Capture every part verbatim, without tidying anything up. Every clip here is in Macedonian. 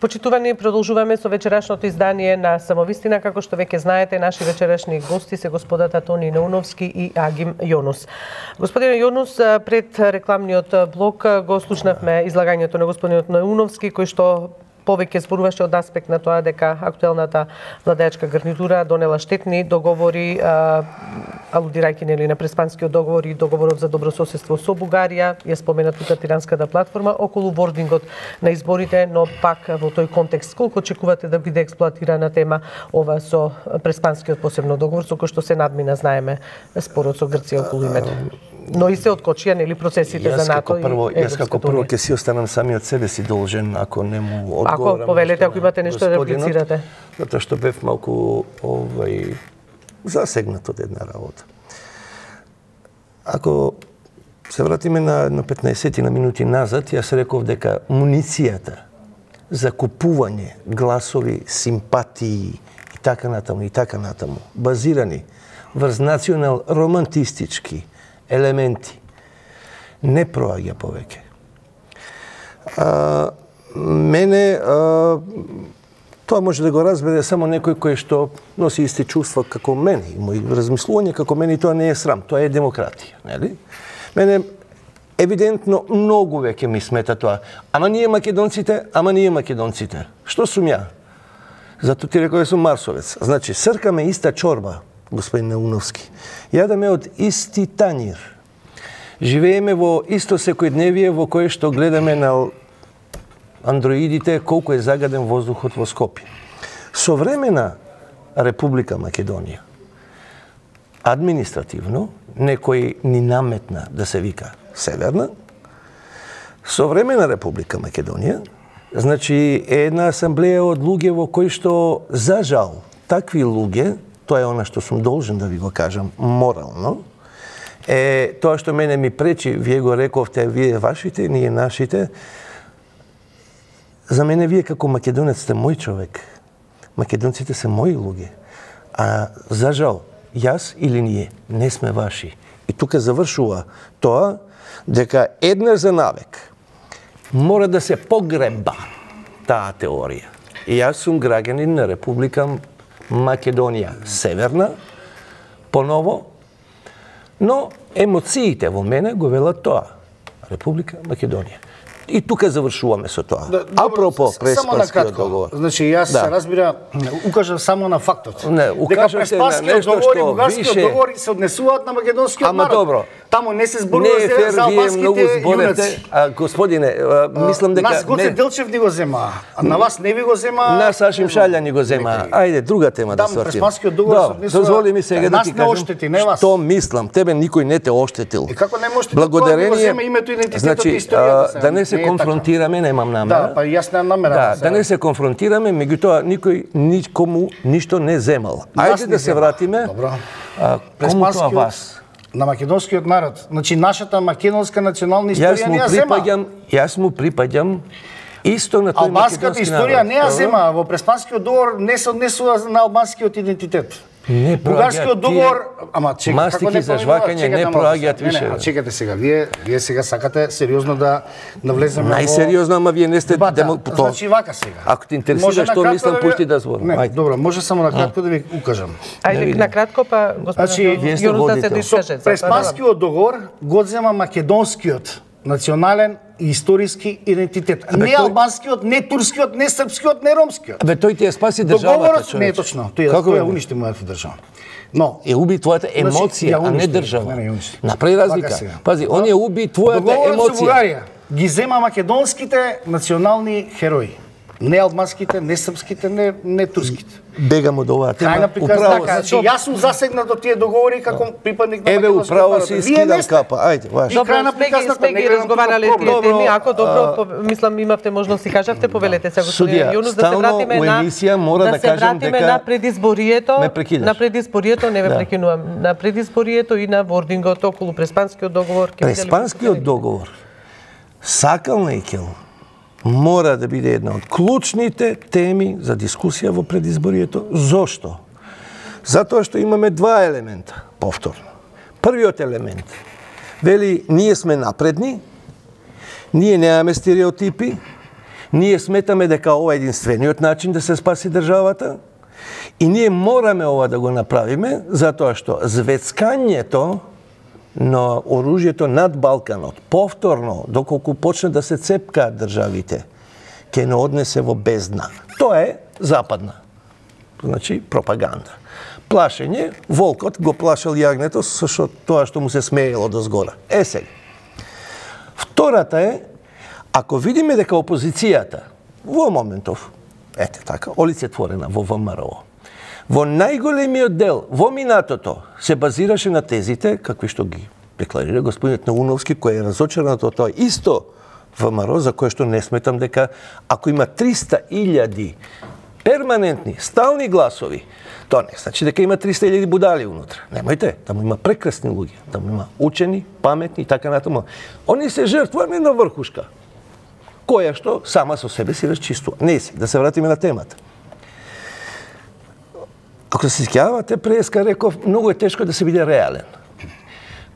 Почитувани, продолжуваме со вечерашното издание на Самовистина. Како што веќе знаете, наши вечерашни гости се господата Тони Науновски и Агим Јонус. Господине Јонус, пред рекламниот блок го слушнавме излагањето на господинот Науновски, кој што повеќе зборуваше од аспект на тоа дека актуелната владеачка гарнитура донела штетни договори, а, алудирајќи нели на Преспанскиот договор и договорот за добрососедство со Бугарија, ја спомена тука Тиранската платформа околу вордингот на изборите, но пак во тој контекст колку очекувате да биде експлоатирана тема ова со Преспанскиот посебно договор со кој што се надмина, знаеме, спорот со Грција околу името. Но и се откочија нели процесите јас за НАТО прво, и Јас како прво ќе си останам сами од себе си должен, ако не му одговорам. Ако повелете, ако имате нешто да реплицирате. Затоа што бев малку овај засегнат од една работа. Ако се вратиме на, на петнаесет на минути назад, јас реков дека муницијата за купување гласови, симпатии и така натаму и така натаму, базирани врз национал романтистички елементи, не проаѓа повеќе. А, мене а, тоа може да го разбере само некој кој што носи исти чувства како мене и мои размислувања како мене, и тоа не е срам, тоа е демократија, нели? Мене евидентно многу веќе ми смета тоа. Ама ние македонците, ама ние македонците. Што сум ја? Зато ти реков сум марсовец. Значи, сркаме иста чорба, господин Науновски. Јадаме од исти тањир. Живееме во исто секојдневие во кое што гледаме на андроидите колку е загаден воздухот во Скопје. Современа Република Македонија, административно, некој ни наметна да се вика Северна, современа Република Македонија, значи е една асамблеја од луѓе во кои што, за жал, такви луѓе, тоа е она што сум должен да ви го кажам морално, е тоа што мене ми пречи, вие го рековте, вие вашите, ние нашите. За мене вие како македонец сте мој човек. Македонците се мои луѓе. А за жал, јас или ние не сме ваши. И тука завршува тоа дека еднаш за навек мора да се погреба таа теорија. И јас сум граѓанин на Република Македонија Северна, поново, но емоциите во мене го велат тоа. Република Македонија. И тука завршуваме со тоа. Да, апропо Преспанскиот договор. Значи јас да. разбира, укажам само на фактот. Не, дека Преспанскиот договор и Бугарскиот више... договор се однесуваат на македонскиот Ама народ. добро. Таму не се зборува не за, за албанските јунаци. А, господине, а, мислам дека... Нас Гоце Делчев ни го зема, а на вас не ви го зема... Нас Ашим Шаља ни го зема. Ајде, друга тема да свртим. Преспанскиот договор се однесува... Дозволи ми сега да ти кажам, оштети, не вас. Што мислам, тебе никој не те оштетил. И како не можете благодарение... да го зема името, идентитетот значи, и историјата? Да не се не конфронтираме, немам намера. Да, па јас немам намера. Да, да не се конфронтираме, меѓутоа никој никому ништо не земал. Ајде да се вратиме. Добро. А, кому тоа вас? На македонскиот народ. Значи нашата македонска национална историја не ја зема. Јас му припаѓам исто на тој албанската историја не ја зема. Во Преспанскиот договор не се однесува на албанскиот идентитет. Не Бугарскиот договор, ама чека, мастики за жвакање не проаѓаат више. Не, не, чекате сега, вие вие сега сакате сериозно да навлеземе во најсериозно, ама вие не сте демократ. Значи вака сега. Ако те интересира што мислам, пушти да зборам. Не, добро, може само на кратко да ви укажам. Ајде на кратко па господин Јонус да се дискаже. Преспанскиот договор го зема македонскиот национален и историски идентитет. Не тој... албанскиот, не турскиот, не српскиот, не ромскиот. Бе тој ти ја спаси државата, човече. Не е точно, тој тој ја уништи мојата држава. Но е уби твојата емоција, значи, а не држава. Не, не, направи разлика. Пази, он ја уби твојата емоција. Договорот со Бугарија ги зема македонските национални херои. Не албанските, не српските, не, не турските. Бегам од оваа тема. Крајна приказна, значи јас сум засегнат од тие договори како припадник на Еве управо си скидам капа. Ајде, ваш. Добро, сме, сме ги разговарале тие теми, ако добро, мислам имавте можност и кажавте, повелете се господин Јонус да се вратиме на емисија мора да кажам дека на предизборието, на предизборието, не ве прекинувам, на предизборието и на вордингот околу Преспанскиот договор. Преспанскиот договор сакал неќел мора да биде една од клучните теми за дискусија во предизборието. Зошто? Затоа што имаме два елемента, повторно. Првиот елемент вели ние сме напредни, ние немаме стереотипи, Ние сметаме дека ова е единствениот начин да се спаси државата и ние мораме ова да го направиме, затоа што звецкањето на оружјето над Балканот, повторно, доколку почне да се цепкаат државите, ќе не однесе во бездна. Тоа е западна. Значи, пропаганда. Плашење, волкот го плашал јагнето со шо, тоа што му се смеело до згора. Е сега. Втората е, ако видиме дека опозицијата во моментов, ете така, олицетворена во ВМРО, во најголемиот дел, во минатото, се базираше на тезите, какви што ги декларира господинот Науновски, кој е разочаран од тоа исто ВМРО, за кое што не сметам дека ако има триста илјади перманентни, стални гласови, тоа не значи дека има триста илјади будали унутра. Немојте, таму има прекрасни луѓе, таму има учени, паметни и така натаму. Они се жртвани на врхушка, која што сама со себе си расчистува. Не се, да се вратиме на темата. Ако се сеќавате, преска реков, многу е тешко да се биде реален.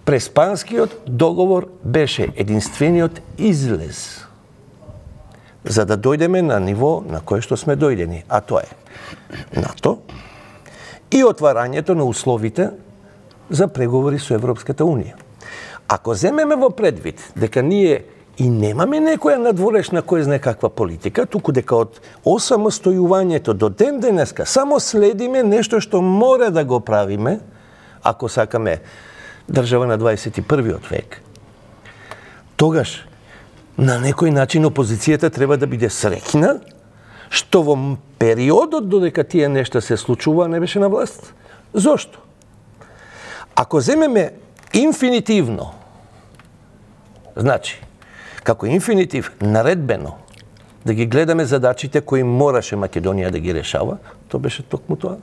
Преспанскиот договор беше единствениот излез за да дојдеме на ниво на кое што сме дојдени, а тоа е НАТО и отварањето на условите за преговори со Европската Унија. Ако земеме во предвид дека ние и немаме некоја надворешна кој знае каква политика, туку дека од осамостојувањето до ден денеска само следиме нешто што мора да го правиме, ако сакаме држава на дваесет и првиот век, тогаш на некој начин опозицијата треба да биде среќна што во периодот додека тие нешта се случува не беше на власт. Зошто? Ако земеме инфинитивно, значи, како инфинитив наредбено, да ги гледаме задачите кои мораше Македонија да ги решава, тоа беше токму тоа.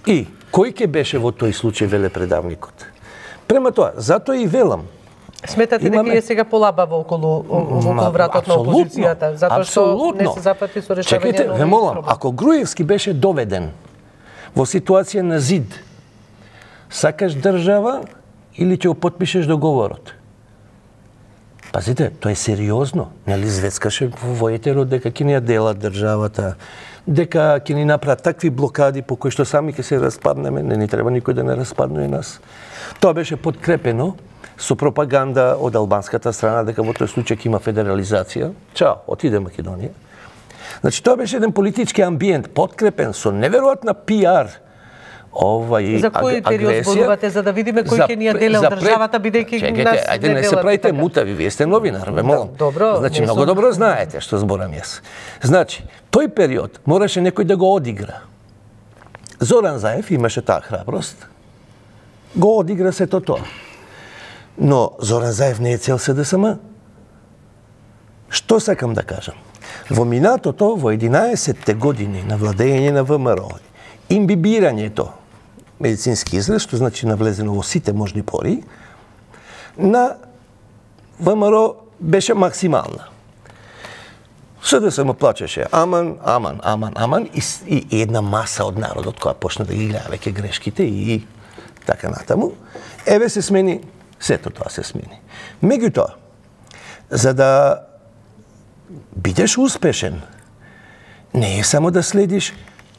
И кој ќе беше во тој случај, веле предавникот? Према тоа, затоа и велам, сметате дека е сега полабаво околу, околу вратот на опозицијата, затоа што не се запати со решавање. Чекайте, ве молам, ако Груевски беше доведен во ситуација на зид, сакаш држава или ќе го потпишеш договорот? Пазите, тоа е сериозно. Нели звецкаше во војтерот дека ќе ни ја делат државата, дека ќе ни направат такви блокади по кои што сами ќе се распаднеме, не ни треба никој да не распаднува нас. Тоа беше подкрепено со пропаганда од албанската страна дека во тој случај ќе има федерализација. Чао, отиде Македонија. Значи тоа беше еден политички амбиент подкрепен со неверојатна пиар. Овај за кој период зборувате, за да видиме кој ќе ни ја делел државата, бидејќи нас ајде не се правите мутави, вие сте новинар, ве молам. Добро, значи многу добро знаете што зборам јас. Значи, тој период мораше некој да го одигра. Зоран Заев имаше таа храброст. Го одигра сето тоа. Но Зоран Заев не е цел СДСМ. Што сакам да кажам? Во минатото, во единаесетте години на владење на ВМРО, имбибирањето, медицински израз, што значи навлезено во сите можни пори, на ВМРО беше максимална. СДСМ плачеше аман, аман, аман, аман и, и една маса од народот која почна да ги гледа веќе грешките и така натаму. Еве се смени, сето тоа се смени. Меѓутоа, за да бидеш успешен, не е само да следиш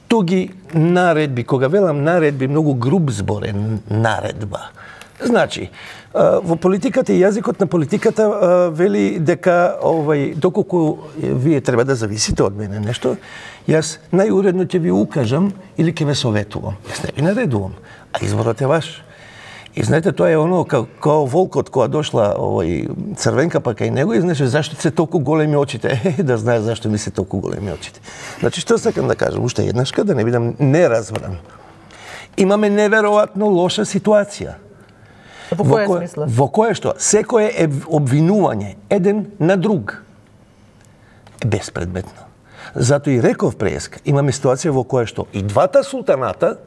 туги наредби, кога велам наредби, многу груб збор е наредба. Значи, во политиката и јазикот на политиката вели дека овај доколку вие треба да зависите од мене нешто, јас најуредно ќе ви укажам или ќе ве советувам. Јас не ви наредувам, а изборот е ваш. И знаете, тоа е оно као, као волкот која дошла овој црвенка па кај него и знаеш зашто се толку големи очите. Е, да знае зашто ми се толку големи очите. Значи што сакам да кажам, уште еднашка да не бидам неразбран. Имаме неверојатно лоша ситуација. Во која смисла? Во која што секое е обвинување еден на друг е безпредметно. Зато и реков преска, имаме ситуација во која што и двата султаната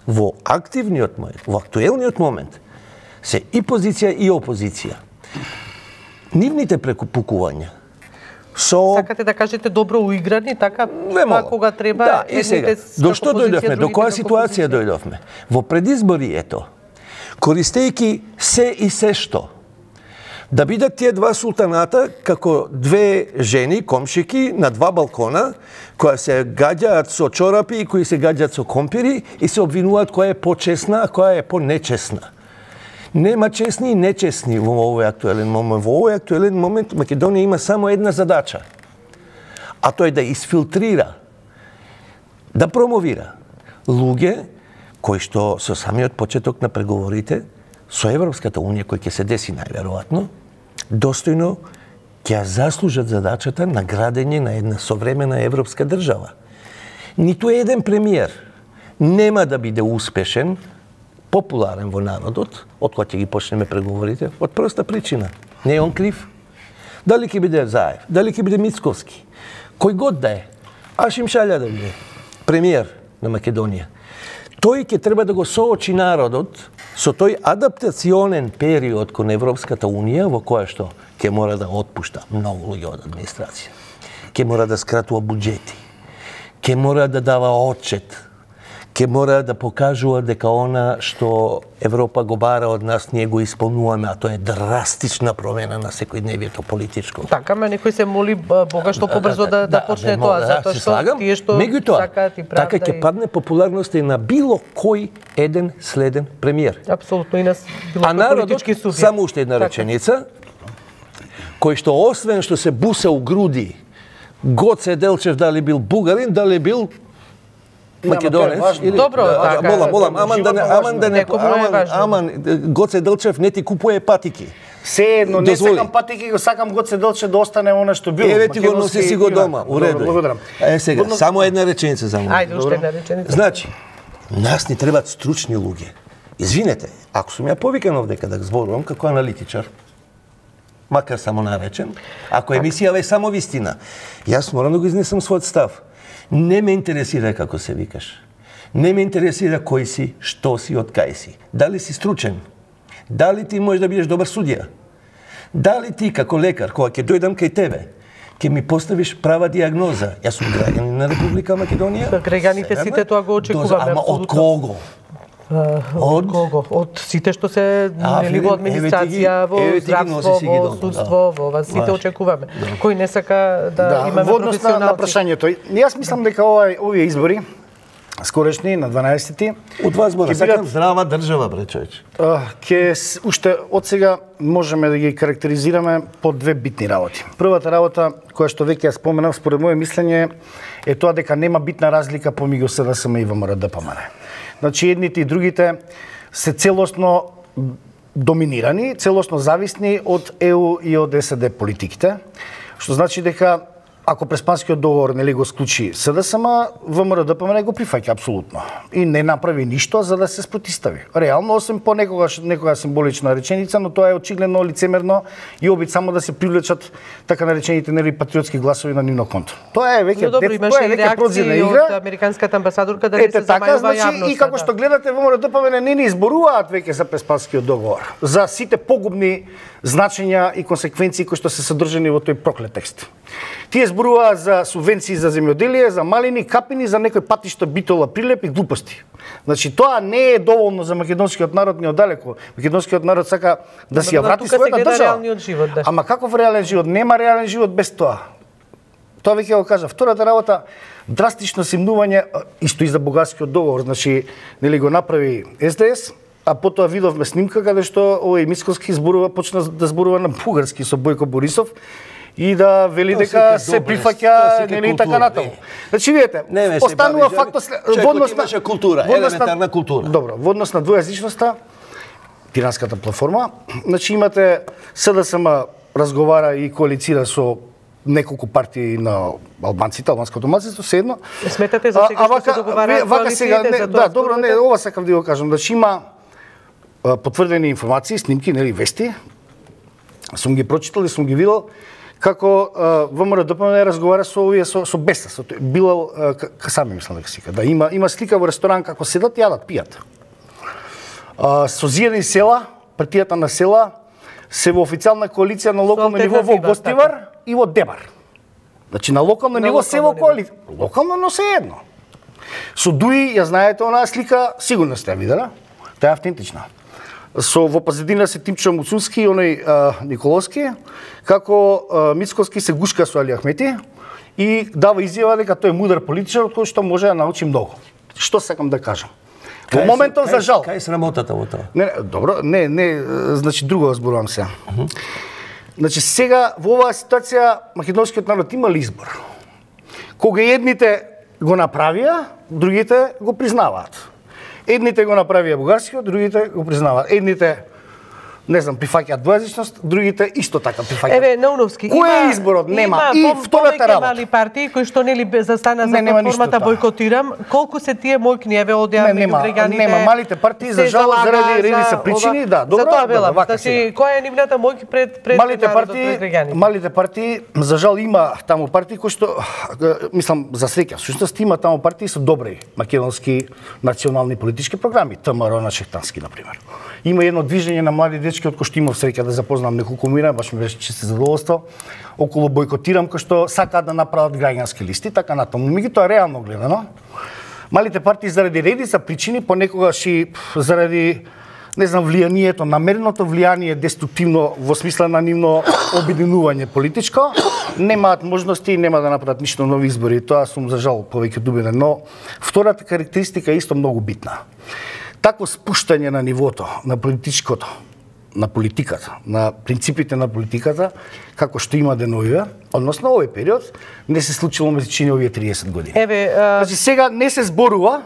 во активниот момент, во актуелниот момент, се и позиција и опозиција. Нивните прекупукувања со... Сакате да кажете добро уиграни, така, па кога треба... Да, и сега, до што дојдовме, до која ситуација дојдовме? Во предизборието, користејќи се и се што, Да бидат тие два султаната како две жени, комшики, на два балкона, кои се гаѓаат со чорапи и кои се гаѓаат со компири и се обвинуваат која е почесна, а која е понечесна. Нема чесни и нечесни во овој актуелен момент. Во овој актуелен момент Македонија има само една задача, а тоа е да изфилтрира, да промовира луѓе кои што со самиот почеток на преговорите со Европската унија, кој ќе се деси најверојатно, достојно ќе ја заслужат задачата на градење на една современа европска држава. Ниту еден премиер нема да биде успешен, популарен во народот, од кога ќе ги почнеме преговорите, од проста причина. Не е он крив. Дали ќе биде Заев, дали ќе биде Мицковски, кој год да е, Ашим Шаља да биде премиер на Македонија. Тој ќе треба да го соочи народот со тој адаптационен период кон Европската унија, во која што ќе мора да отпушта многу луѓе од администрација, ќе мора да скратува буџети, ќе мора да дава отчет, ќе мора да покажува дека она што Европа го бара од нас ние го исполнуваме, а тоа е драстична промена на секојдневието политичко. Така, ме некој се моли Бога што побрзо да, да, да почне да, тоа, затоа што тие што сакаат и правда. Така ќе падне популярноста и на било кој еден следен премиер. Апсолутно и на било кој политички субјект. Само уште една реченица, кој што освен што се буса у груди, Гоце Делчев дали бил бугарин, дали бил македонец или добро, да, така, молам, молам, аман да не, аман да не, аман, аман Гоце Делчев не ти купува патики. Се едно, не сакам патики, го сакам Гоце Делчев да остане она што било. Еве ти го носи си го дома, у реду. Благодарам. Е сега, Годно... само една реченица за мене. Ајде, уште една реченица. Значи, нас ни требаат стручни луѓе. Извинете, ако сум ја повикан овдека да зборувам како аналитичар, макар само наречен, ако емисијава е само вистина, јас морам да го изнесам својот став. Не ме интересира како се викаш. Не ме интересира кој си, што си, од кај си. Дали си стручен? Дали ти можеш да бидеш добар судија? Дали ти како лекар, кога ќе дојдам кај тебе, ќе ми поставиш права диагноза? Јас сум граѓанин на Република Македонија. Граѓаните сите тоа го очекуваме. Ама од кого? Од кого? Од сите што се нели во администрација, во здравство, во судство, во ова сите очекуваме. Кој не сака да имаме професионалци. На прашањето, јас мислам дека овај овие избори скорешни на дванаесети од вас збора сакам здрава држава, бре човече. Ќе уште од сега можеме да ги карактеризираме по две битни работи. Првата работа која што веќе ја споменав според моје мислење е тоа дека нема битна разлика помеѓу СДСМ и ВМРО-ДПМН. Значи, едните и другите се целосно доминирани, целосно зависни од Е У и од СД политиките, што значи дека ако Преспанскиот договор нели го склучи СДСМ, ВМРО-ДПМН го прифаќа апсолутно и не направи ништо за да се спротистави. Реално, освен по некогаш некоја символична реченица, но тоа е очигледно лицемерно и обид само да се привлечат така наречените нели патриотски гласови на нивно конто. Тоа е веќе добро, имаше и реакции од американската амбасадорка да не се замајува значи, јавноста. И како што гледате, ВМРО-ДПМН не ни изборуваат веќе за Преспанскиот договор, за сите погубни значења и консеквенции кои што се содржани во тој проклет текст. Тие зборуваат за субвенции за земјоделие, за малини, капини, за некој патишто, битола, прилеп и глупости. Значи, тоа не е доволно за македонскиот народ ни оддалеку. Македонскиот народ сака да си ја врати својата држава. Да. Ама каков реален живот? Нема реален живот без тоа. Тоа веќе го кажа. Втората работа, драстично симнување, исто и за бугарскиот договор, значи, нели го направи Ес Де Ес, а потоа видовме снимка каде што овој Мицковски зборува, почна да зборува на бугарски со Бојко Борисов и да вели дека се прифаќа нели така натаму. Значи видите, останува фактот во однос на култура, елементарна култура. Добро, во однос на двојазичноста, тиранската платформа, значи имате СДСМ разговара и коалицира со неколку партии на албанците, албанското малцинство, седно. Сметате за сега што се договараат коалициите за тоа? Да, добро, не, ова сакам да го кажам, значи има потврдени информации, снимки, нели вести. Сум ги прочитал и сум ги видел како ВМРО-ДПМН разговара со овие со, со Беса, со Билал Касами, мислам дека сика. Да има има слика во ресторан како седат, јадат, пијат. А, со зијани села, партијата на села се во официјална коалиција на локално ниво во Гостивар и во Дебар. Значи на локално ниво се во коалиција. Локално, но се едно. Со Дуи, ја знаете, онаа слика, сигурно сте ја видела. Таа е автентична. со во позадина се Тимчо Муцунски и оној а, Николовски, како а, Мицкоски се гушка со Али Ахмети и дава изјава дека тој е мудар политичар од кој што може да научи многу. Што сакам да кажам? Во моментов за жал. Кај е срамотата во тоа? Не, добро, не, не, значи друго зборувам сега. Uh -huh. Значи сега во оваа ситуација македонскиот народ има ли избор? Кога едните го направија, другите го признаваат. Едните го направија бугарскиот, другите го признаваат. Едните не знам, прифаќаат двојазичност, другите исто така прифаќаат. Еве, Науновски, кој е изборот? Нема. Има, и втората работа. Мали партии кои што нели застана не, за платформата бойкотирам, колку се тие мојкни, еве одеа меѓу граѓаните. Нема, малите партии за жал заради редица причини, да, добро. За тоа велам, значи која е нивната мојки пред пред малите партии, пред малите партии за жал има таму партии кои што мислам за среќа, всушност има таму партии со добри македонски национални политички програми, ТМР на Шехтански на пример. Има едно движење на млади дечки од кои што имав среќа да запознам неколку мира, баш ми беше чисто задоволство, околу бойкотирам, кои што сакаат да направат граѓански листи, така натаму. Меѓутоа реално гледано, малите партии заради редица причини, понекогаш и заради не знам влијанието, намереното влијание деструктивно во смисла на нивно обединување политичко, немаат можности и нема да направат ништо нови избори. Тоа сум за жал повеќе дубеден, но втората карактеристика е исто многу битна. Такво спуштање на нивото на политичкото, на политиката, на принципите на политиката, како што има деновиве, односно овој период, не се случило меѓу овие триесет години. Еве, а... значи сега не се зборува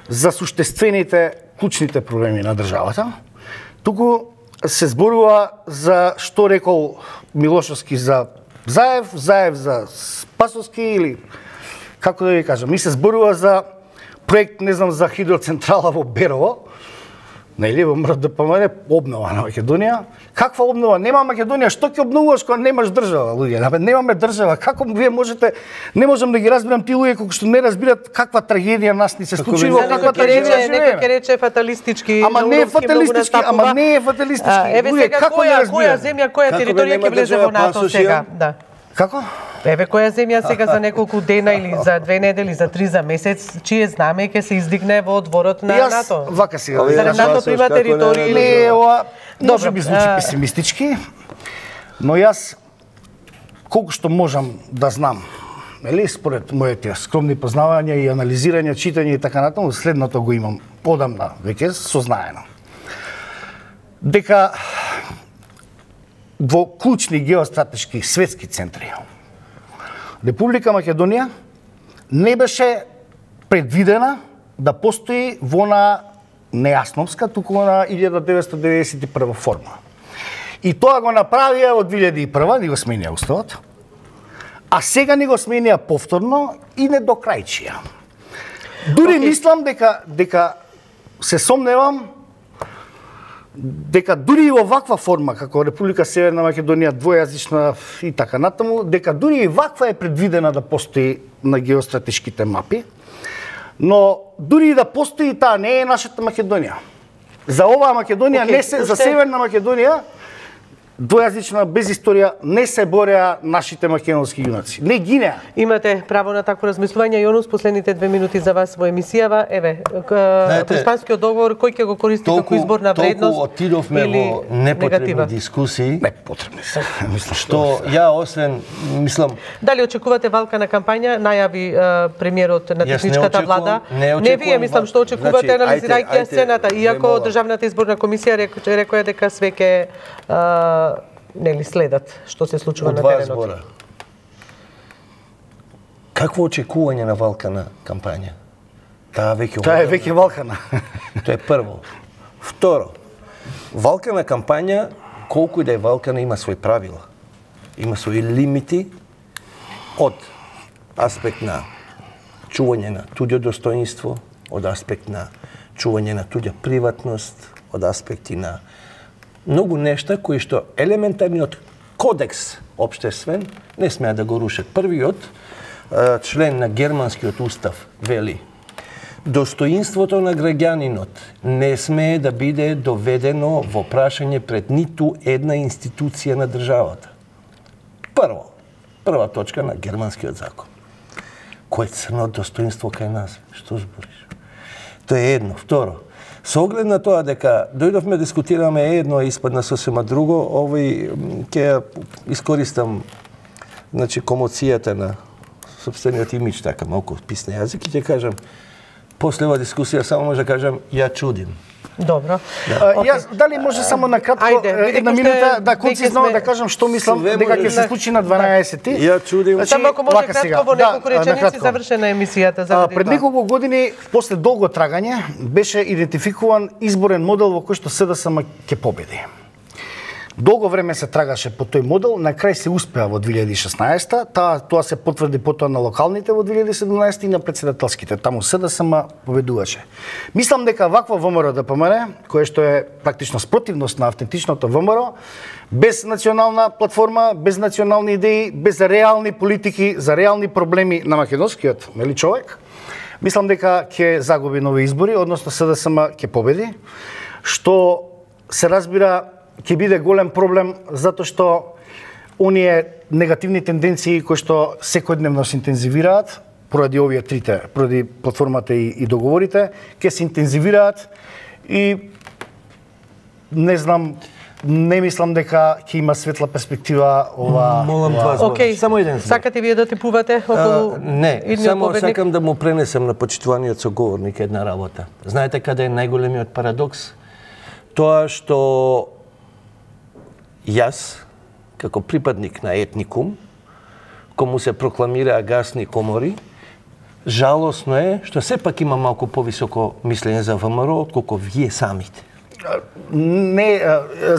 за суштествените, клучните проблеми на државата, туку се зборува за што рекол Милошовски за Заев, Заев за Спасовски или како да ви кажам, ми се зборува за проект, не знам, за хидроцентрала во Берово, нели, во МРДПМН, обнова на Македонија. Каква обнова? Нема Македонија, што ќе обновуваш кога немаш држава, луѓе? Немаме држава. Како вие можете, не можам да ги разбирам тие луѓе кои што не разбират каква трагедија нас ни се случи, во каква трагедија живееме. Некој ќе рече фаталистички, ама не е фаталистички, ама не е фаталистички. Еве сега која, која земја, која територија ќе влезе во НАТО сега? Да. Како? Еве која земја сега за неколку дена или за две недели, за три за месец, чие знаме ќе се издигне во дворот на јас, НАТО? Вака сега. За НАТО има територија или не, ова може би звучи песимистички, но јас колку што можам да знам, нели, според моите скромни познавања и анализирање, читање и така натаму, следното го имам одамна веќе сознаено. Дека во клучни геостратешки светски центри Република Македонија не беше предвидена да постои во на нејасновска, туку на илјада деветстотини деветдесет и прва форма. И тоа го направија во две илјади и прва, ни го сменија уставот, а сега ни го сменија повторно и не до крајчија. Дури okay. мислам дека дека се сомневам дека дури и во ваква форма, како Република Северна Македонија, двојазична и така натаму, дека дури и ваква е предвидена да постои на геостратешките мапи, но дури и да постои, таа не е нашата Македонија. За оваа Македонија okay, не се, за Северна Македонија, двојазична, без историја, не се бореа нашите македонски јунаци. Не гинеа. Имате право на такво размислување. Јонус, последните две минути за вас во емисијава. Еве, Преспанскиот договор, кој ќе го користи толку, како изборна вредност? Толку отидовме во непотребни дискусии. Непотребни се. Мислам што ја освен, мислам... Дали очекувате валка на кампања? Најави премиерот на техничката не влада. Не, не вие, мислам, што очекувате, значи, анализирајќи ја сцената. Иако Државната изборна комисија рекоа дека све ќе нели следат што се случува на теренот. Збора. Какво очекување на валкана кампања? Таа веќе Таа е веќе валкана. Тоа е прво. Второ, валкана кампања, колку и да е валкана, има свои правила. Има свои лимити од аспект на чување на туѓо достоинство, од аспект на чување на туѓа приватност, од аспекти на многу нешта кои што елементарниот кодекс општествен не смеа да го рушат. Првиот член на германскиот устав вели: достоинството на граѓанинот не смее да биде доведено во прашање пред ниту една институција на државата. Прво, прва точка на германскиот закон. Кој е црно достоинство кај нас? Што збориш? Тоа е едно. Второ, Со оглед на тоа дека дојдовме дискутираме едно, а испадна сосема друго, овој ќе искористам значи комоцијата на собствениот имидж, така малку писне јазик, и ќе кажам, после оваа дискусија само може да кажам, ја чудим. Добро. Да. А, јас дали може само на кратко Ајде, една минута да концизно сме... да кажам што мислам дека ќе се случи на дванаесети. Ја чудим. Значи, само ако може кратко во неколку да, реченици завршена емисијата за пред неколку години после долго трагање беше идентификуван изборен модел во кој што СДСМ ќе победи. Долго време се трагаше по тој модел, на крај се успеа во две илјади и шеснаесета, та, тоа се потврди потоа на локалните во две илјади и седумнаесета и на претседателските, таму СДСМ победуваше. Мислам дека ваква ВМРО Д П М Р, кое што е практично спротивност на автентичното ВМРО, без национална платформа, без национални идеи, без реални политики за реални проблеми на македонскиот нели човек, мислам дека ќе загуби нови избори, односно СДСМ ќе победи, што се разбира ќе биде голем проблем затоа што оние негативни тенденции кои што секојдневно се интензивираат поради овие трите, поради платформата и, и договорите, ќе се интензивираат и не знам, не мислам дека ќе има светла перспектива ова. Молам вас. Океј, само еден. Сакате вие да типувате околу не, само победник? Сакам да му пренесам на почитуваниот соговорник една работа. Знаете каде е најголемиот парадокс? Тоа што јас, како припадник на етникум, кому се прокламираа гасни комори, жалосно е што сепак има малку повисоко мислење за ВМРО отколку вие самите. Не,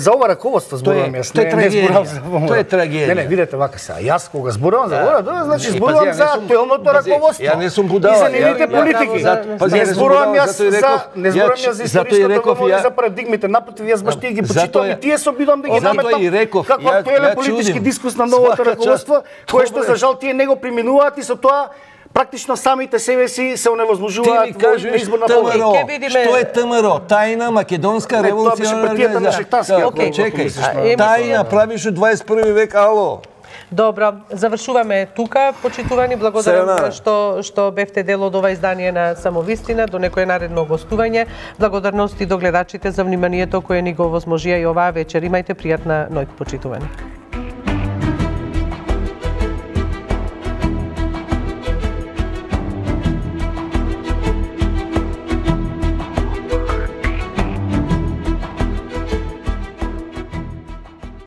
за ова раководство зборувам јас, не, не зборувам за ВМРО. Тоа е трагедија. Не, не, видете вака сега, јас кога зборувам за ВМРО, тоа значи зборувам за актуелното раководство. Ја не сум будала. И за нивните политики. Не зборувам јас за, не зборувам јас за историското ВМРО, за парадигмите, напротив, јас баш тие ги почитувам и тие се обидувам да ги наметам како актуелен политички дискус на новото раководство, кое што за жал тие не го преминуваат и со тоа практично самите себе си се оневозможуваат во изборна победа. Што е ТМРО? Тајна македонска револуционарна организација. Чекај, тајна правиш у дваесет и први век, ало. Добро, завршуваме тука. Почитувани, благодарам што што бевте дел од ова издание на Самовистина, до некое наредно гостување. Благодарности до гледачите за вниманието кое ни го овозможија и оваа вечер. Имајте пријатна ноќ, почитувани.